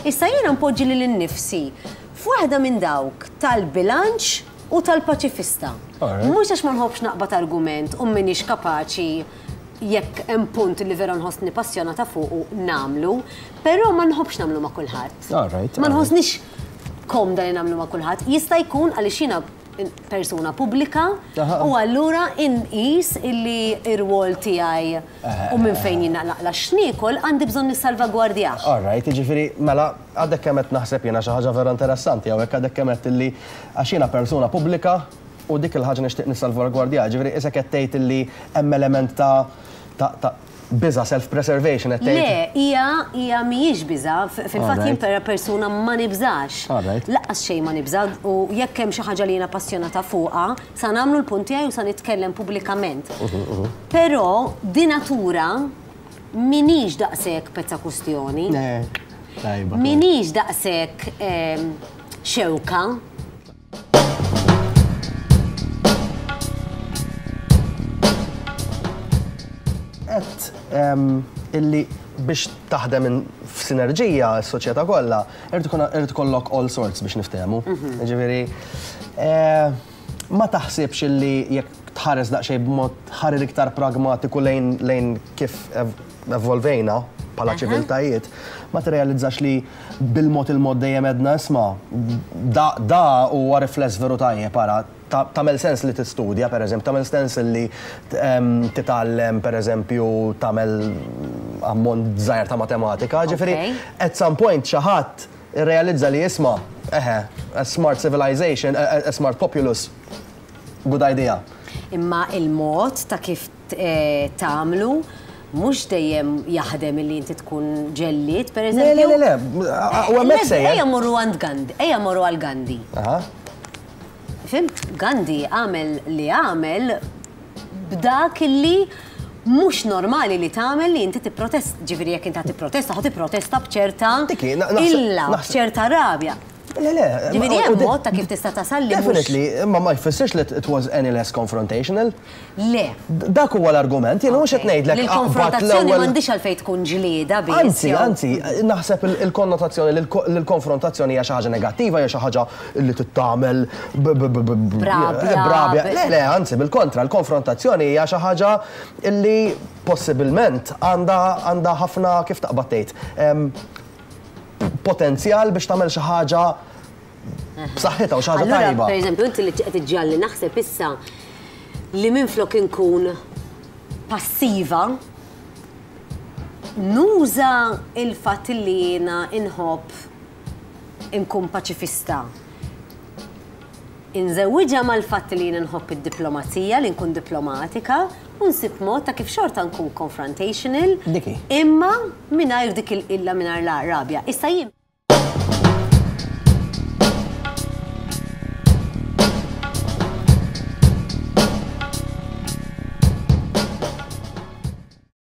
Issa jiena npoġġi lili nnifsi f'waħda minn dawk tal-bilanċ u tal-paċifista. Mhux għax ma nħobbx naqbad argument u m'iniex kapaċi jekk hemm punt li vera nħossni passjonata fuqu nagħmlu, però ma nħobbx nagħmlu ma' kulħadd. Ma nħossnix komda li nagħmlu ma' kulħadd. Jista' jkun għaliex jiena persuna pubblika u allura inqis illi r-rwol tiegħi u minn fejn jien naqla' x'niekol għandi bżonn nissalvagwardjah. All right, jiġifieri mela għadek kemm qed naħseb jiena xi ħaġa vera interessanti hawnhekk għadek kemm għedt illi għax jiena persuna pubblika u dik il-ħaġa nixtieq nissalvagwardjaha, jiġifieri qisek qed tgħid illi hemm element ta' ta' biża' self-preservation qed tgħid? Le, hija hija mhijiex biża', fil-fatt jien persuna ma nibżax. Lanqas xejn ma nibża' u jekk hemm xi ħaġa li jiena passjonata fuqha, sa nagħmlu l-punt tiegħi u sa nitkellem pubblikament. Però di natura m'iniex daqshekk pezza kustjoni. M'iniex daqshekk xewka. Għedt illi biex taħdem f'sinerġija s-soċjetà kollha, irid ikollok all sorts biex niftehmu. Mhm. Ġifieri, eh, ma taħsibx illi jekk tħares daqsxejn b'mod ħarir iktar pragmatiku lejn kif evolvejna bħala ċiviltajiet, ma tirrealizzax li bil-mod il-mod dejjem għedna isma' da da huwa rifless veru tajjeb ara, tagħmel sens li tistudja pereżempju, tagħmel sens li titgħallem pereżempju tagħmel ammont żgħir ta' matematika, ġifieri at some point xi ħadd irrealizza li isma' eħe, a smart civilization, a smart populous, good idea. Imma il-mod ta' kif tagħmlu mhux dejjem jaħdem illi inti tkun ġellied, per eżempju. Le, le, le, le, u hemmhekk sejjer. Ejja mmorru għand Gandhi, ejja mmorru għal Gandhi. Fhimt? Gandhi għamel li għamel b'dak illi mhux normali li tagħmel li inti tipprotesta, ġifieri jekk inti ħa tipprotesta, ħa tipprotesta b'ċerta illa, b'ċerta rabja. Le, le. Ġifieri hemm mod ta' kif tista' tasal li Definitely, imma ma jfissirx li it was any less confrontational. Le. Dak huwa l-argument, jiena mhux qed ngħidlek Li l-konfrontazzjoni m'għandhiex għalfejn tkun ġlieda biss. Anzi, anzi, naħseb il-konnotazzjoni li l-konfrontazzjoni hija xi ħaġa negattiva, hija xi ħaġa li trid tagħmel b'rabja. Le, le, anzi, bil-kontra, l-konfrontazzjoni hija xi ħaġa li possibilment għandha ħafna kif taqbad tgħid potenzjal biex tagħmel xi ħaġa b'saħħitha u xi ħaġa tajba. Per eżempju, inti li qed iġġalli naħseb issa li minflok inkun passiva nuża il-fatt li jiena inħobb inkun paċifista. Inżewwiġha mal-fatt li jiena nħobb id-diplomazija, li nkun diplomatika, u nsib mod ta' kif xorta nkun confrontational, imma mingħajr dik il-qilla, mingħajr rabja. Issa jien.